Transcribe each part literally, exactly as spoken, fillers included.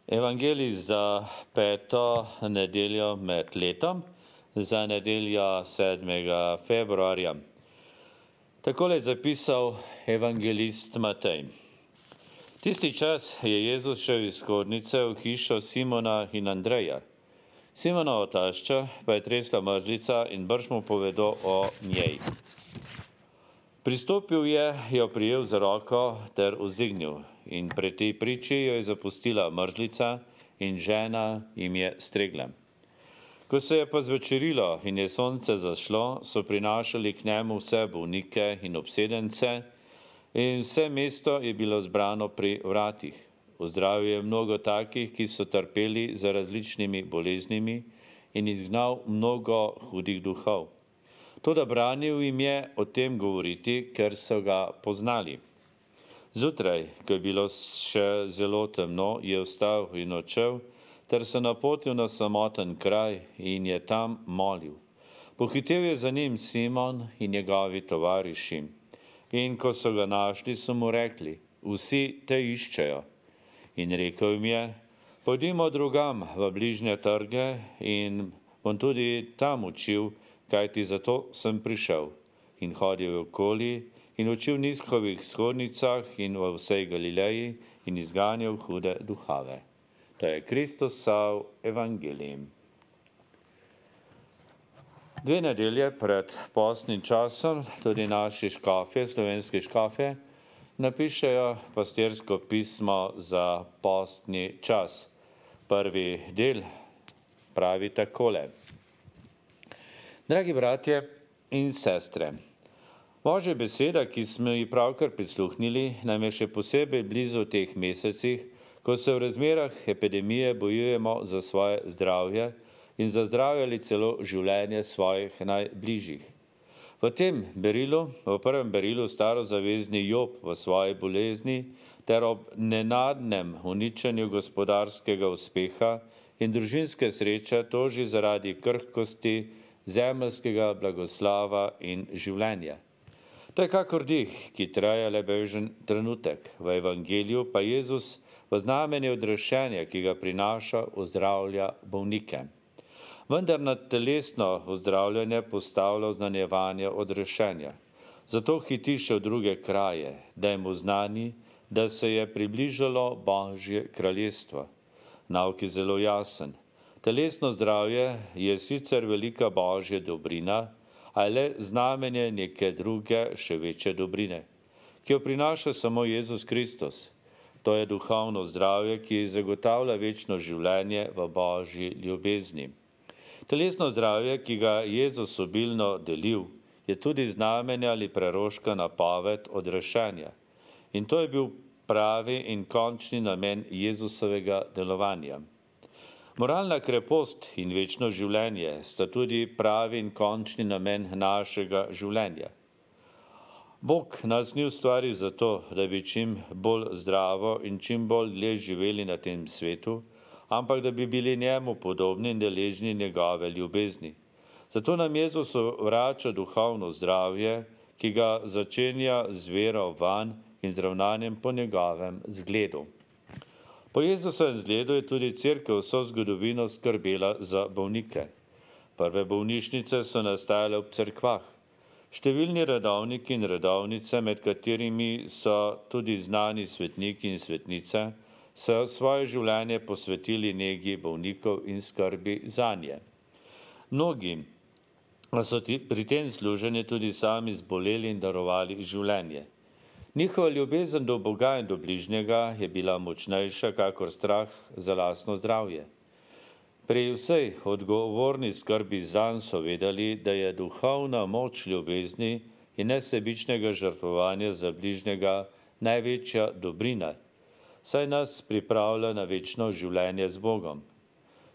Evangelij za peto nedeljo med letom, za nedeljo sedmega februarja. Takole je zapisal evangelist Matej. Tisti čas je Jezus šel iz skodnice v hišo Simona in Andreja. Simonova tašča pa je tresla mrzlica in brž mu povedo o njej. Pristopil je, jo prijel za roko ter vzdignil in pred tej priči jo je zapustila mrzlica in žena jim je stregla. Ko se je pa zvečerilo in je sonce zašlo, so prinašali k njemu vse bolnike in obsedence in vse mesto je bilo zbrano pri vratih. Ozdravil je mnogo takih, ki so trpeli za različnimi boleznimi in izgnal mnogo hudih duhov. Toda branil jim je o tem govoriti, ker so ga poznali. Zjutraj, ko je bilo še zelo temno, je vstal in odšel, ter se napotil na samoten kraj in je tam molil. Pohitel je za njim Simon in njegovi tovariši. In ko so ga našli, so mu rekli, vsi te iščejo. In rekel jim je, pojdimo drugam v bližnje trge in bom tudi tam učil, kajti zato sem prišel. In hodil okoli in učil v nizkovih shodnicah in v vsej Galileji in izganjal hude duhove. To je Kristusov evangelij. Dve nedelje pred postnim časom tudi naši škofje, slovenski škofje, napišejo pastirsko pismo za postni čas. Prvi del pravi takole. Dragi bratje in sestre, Božja beseda, ki smo ji pravkar prisluhnili, nam je še posebej blizu v teh mesecih, ko se v razmerah epidemije bojujemo za svoje zdravje in za zdravje ali celo življenje svojih najbližjih. V tem berilu, v prvem berilu starozavezni Job v svoji bolezni ter ob nenadnem uničenju gospodarskega uspeha in družinske sreče toži zaradi krhkosti zemeljskega blagoslava in življenja. To je kakor dih, ki traja le bežen trenutek. V evangeliju pa Jezus v znamenju odrešenja, ki ga prinaša, ozdravlja bolnike. Vendar na telesno ozdravljanje postavlja oznanjevanje odrešenja. Zato hiti še v druge kraje, da je mu znani, da se je približalo Božje kraljestvo. Nauk je zelo jasen. Telesno zdravje je sicer velika Božja dobrina, a je le znamenje neke druge, še večje dobrine, ki jo prinaša samo Jezus Kristus. To je duhovno zdravje, ki zagotavlja večno življenje v Božji ljubezni. Telesno zdravje, ki ga Jezus obilno delil, je tudi znamenje ali preroška napoved odrešenja. In to je bil pravi in končni namen Jezusovega delovanja. Moralna krepost in večno življenje sta tudi pravi in končni namen našega življenja. Bog nas ni ustvaril zato, da bi čim bolj zdravo in čim bolj dlje živeli na tem svetu, ampak da bi bili njemu podobni in deležni njegove ljubezni. Zato nam Jezus vrača duhovno zdravje, ki ga začenja z vero vanj in z ravnanjem po njegovem zgledu. Po Jezusovem zgledu je tudi cerkev vso zgodovino skrbela za bolnike. Prve bolnišnice so nastajale ob cerkvah. Številni redovniki in redovnice, med katerimi so tudi znani svetniki in svetnice, so svoje življenje posvetili negi bolnikov in skrbi zanje. Mnogi so pri tem služenju tudi sami zboleli in darovali življenje. Njihova ljubezen do Boga in do bližnjega je bila močnejša kakor strah za lastno zdravje. Pri vsej odgovorni skrbi zanj so vedeli, da je duhovna moč ljubezni in nesebičnega žrtvovanja za bližnjega največja dobrina, saj nas pripravlja na večno življenje z Bogom.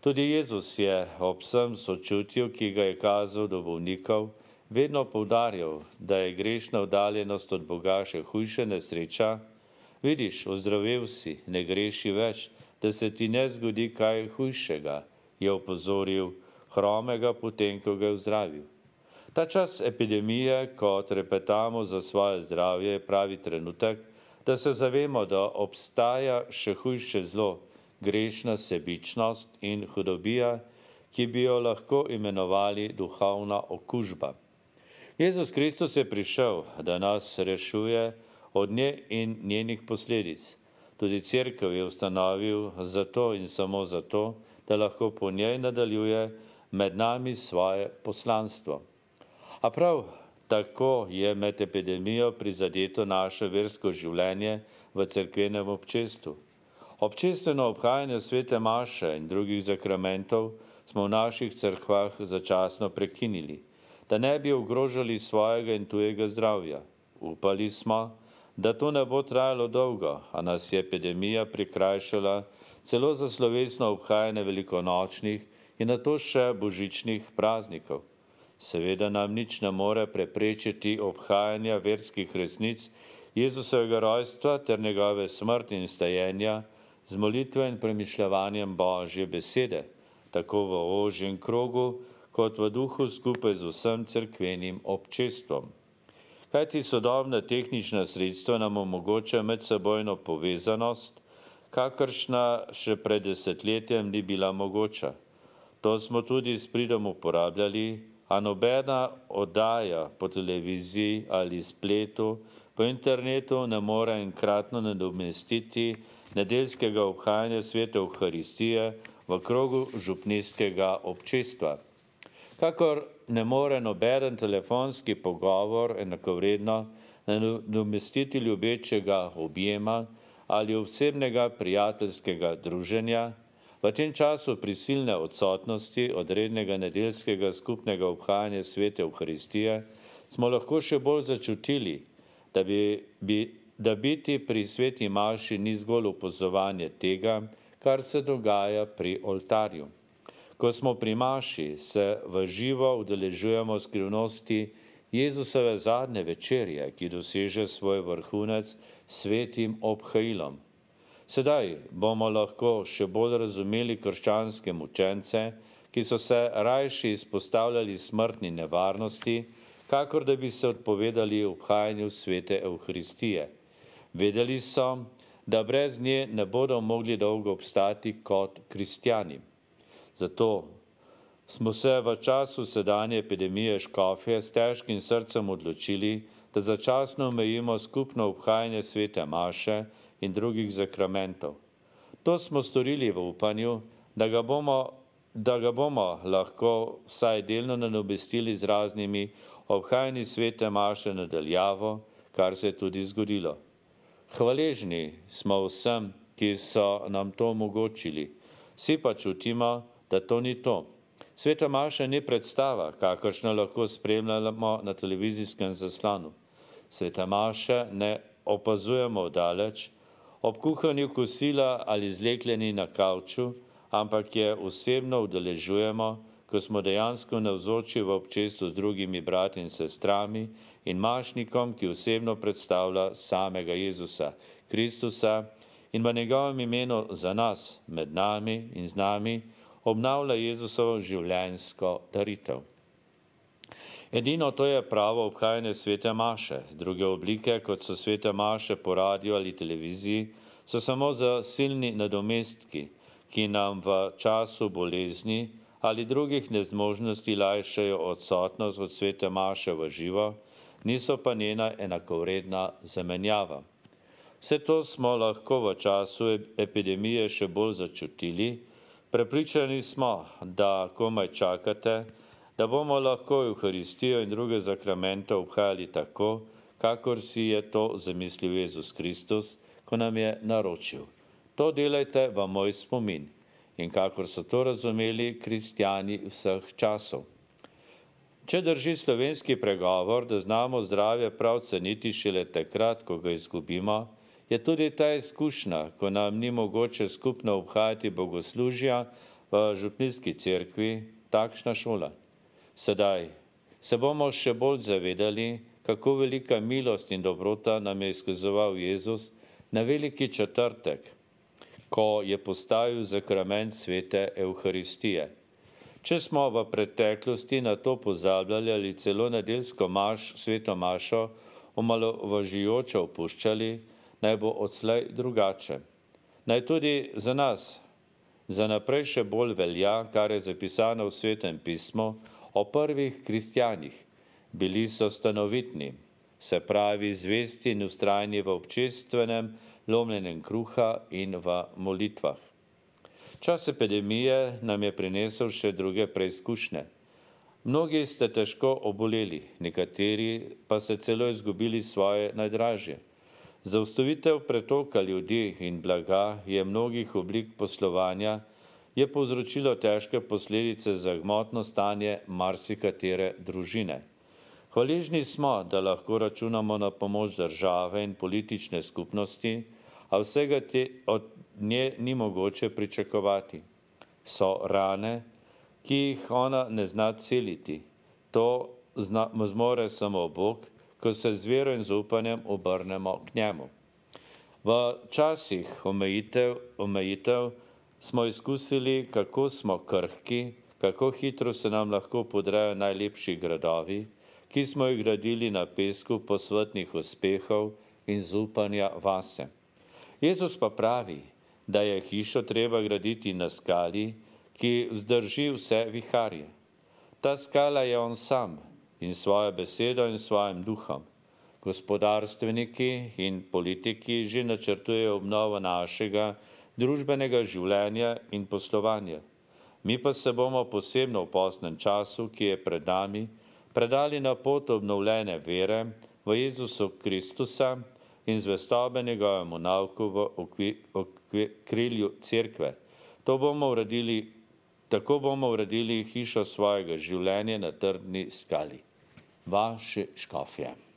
Tudi Jezus je ob vsem sočutju, ki ga je kazal do bolnikov, vedno poudarjal, da je grešna oddaljenost od Boga še hujša nesreča. Vidiš, ozdravel si, ne greši več, da se ti ne zgodi kaj hujšega, je opozoril hromega potem, ko ga je ozdravil. Ta čas epidemije, ko trepetamo za svoje zdravje, je pravi trenutek, da se zavemo, da obstaja še hujše zlo, grešna sebičnost in hudobija, ki bi jo lahko imenovali duhovna okužba. Jezus Kristus je prišel, da nas rešuje od nje in njenih posledic. Tudi cerkev je ustanovil zato in samo zato, da lahko po njej nadaljuje med nami svoje poslanstvo. A prav tako je med epidemijo prizadeto naše versko življenje v cerkvenem občestvu. Občestveno obhajanje svete maše in drugih zakramentov smo v naših cerkvah začasno prekinili, da ne bi ogrožali svojega in tujega zdravja. Upali smo, da to ne bo trajalo dolgo, a nas je epidemija prikrajšala celo za slovesno obhajanje velikonočnih in nato še božičnih praznikov. Seveda nam nič ne more preprečiti obhajanja verskih resnic Jezusovega rojstva ter njegove smrti in vstajenja z molitvo in premišljevanjem Božje besede, tako v ožjem krogu, kot v duhu skupaj z vsem cerkvenim občestvom. Kajti sodobna tehnična sredstva nam omogoča medsebojno povezanost, kakršna še pred desetletjem ni bila mogoča. To smo tudi s pridom uporabljali, a nobena oddaja po televiziji ali spletu, po internetu ne more enkratno nadomestiti nedeljskega obhajanja svete Evharistije v krogu župnijskega občestva. Kakor ne more nobeden telefonski pogovor enakovredno nadomestiti ljubečega objema ali osebnega prijateljskega druženja, v tem času prisilne odsotnosti od rednega nedeljskega skupnega obhajanja svete Evharistije smo lahko še bolj začutili, da, bi, bi, da biti pri sveti maši ni zgolj opazovanje tega, kar se dogaja pri oltarju. Ko smo pri maši, se v živo udeležujemo skrivnosti Jezusove zadnje večerje, ki doseže svoj vrhunec svetim obhajilom. Sedaj bomo lahko še bolj razumeli krščanske mučence, ki so se rajši izpostavljali smrtni nevarnosti, kakor da bi se odpovedali obhajanju svete Evharistije. Vedeli so, da brez nje ne bodo mogli dolgo obstati kot kristjani. Zato smo se v času sedanje epidemije škofje s težkim srcem odločili, da začasno omejimo skupno obhajanje svete maše in drugih zakramentov. To smo storili v upanju, da ga bomo, da ga bomo lahko vsaj delno nadomestili z raznimi obhajanji svete maše nadaljavo, kar se je tudi zgodilo. Hvaležni smo vsem, ki so nam to omogočili. Vsi pa čutimo, da to ni to. Sveta maša ni predstava, kakršno lahko spremljamo na televizijskem zaslonu. Sveta maša ne opazujemo daleč, ob kuhanju kosila ali zlekljeni na kavču, ampak je osebno udeležujemo, ko smo dejansko navzoči v občestvu z drugimi brati in sestrami in mašnikom, ki osebno predstavlja samega Jezusa Kristusa in v njegovem imenu za nas, med nami in z nami, obnavlja Jezusovo življenjsko daritev. Edino to je pravo obhajanje svete maše. Druge oblike, kot so svete maše po radiju ali televiziji, so samo za silni nadomestki, ki nam v času bolezni ali drugih nezmožnosti lajšajo odsotnost od svete maše v živo, niso pa njena enakovredna zamenjava. Vse to smo lahko v času epidemije še bolj začutili. Prepričani smo, da komaj čakate, da bomo lahko Evharistijo in druge zakramente obhajali tako, kakor si je to zamislil Jezus Kristus, ko nam je naročil. To delajte v moj spomin in kakor so to razumeli kristjani vseh časov. Če drži slovenski pregovor, da znamo zdravje prav ceniti šele takrat, ko ga izgubimo, je tudi ta izkušnja, ko nam ni mogoče skupno obhajati bogoslužja v župnijski cerkvi, takšna šola. Sedaj se bomo še bolj zavedali, kako velika milost in dobrota nam je izkazoval Jezus na veliki četrtek, ko je postavil zakrament svete Evharistije. Če smo v preteklosti na to pozabljali ali celo nedeljsko maš, sveto mašo omalovažujoče opuščali, naj bo odslej drugače. Naj tudi za nas Za naprej še bolj velja, kar je zapisano v Svetem pismu o prvih kristjanih. Bili so stanovitni, se pravi zvesti in vztrajni v občestvenem lomljenjem kruha in v molitvah. Čas epidemije nam je prinesel še druge preizkušnje. Mnogi ste težko oboleli, nekateri pa ste celo izgubili svoje najdražje. Zaustavitev pretoka ljudi in blaga je mnogih oblik poslovanja je povzročilo težke posledice za gmotno stanje marsikatere družine. Hvaležni smo, da lahko računamo na pomoč države in politične skupnosti, a vsega te od nje ni mogoče pričakovati. So rane, ki jih ona ne zna celiti. To zna, zmore samo Bog, ko se z vero in zaupanjem obrnemo k njemu. V časih omejitev, omejitev smo izkusili, kako smo krhki, kako hitro se nam lahko podrejo najlepši gradovi, ki smo jih gradili na pesku posvetnih uspehov in zaupanja vase. Jezus pa pravi, da je hišo treba graditi na skali, ki vzdrži vse viharje. Ta skala je on sam in svojo besedo in svojim duhom. Gospodarstveniki in politiki že načrtujejo obnovo našega družbenega življenja in poslovanja. Mi pa se bomo posebno v postnem času, ki je pred nami, predali na pot obnovljene vere v Jezusu Kristusa in zvestobe njegovemu nauku v okrilju cerkve. To bomo uredili, tako bomo uredili hišo svojega življenja na trdni skali. Vaše škofje.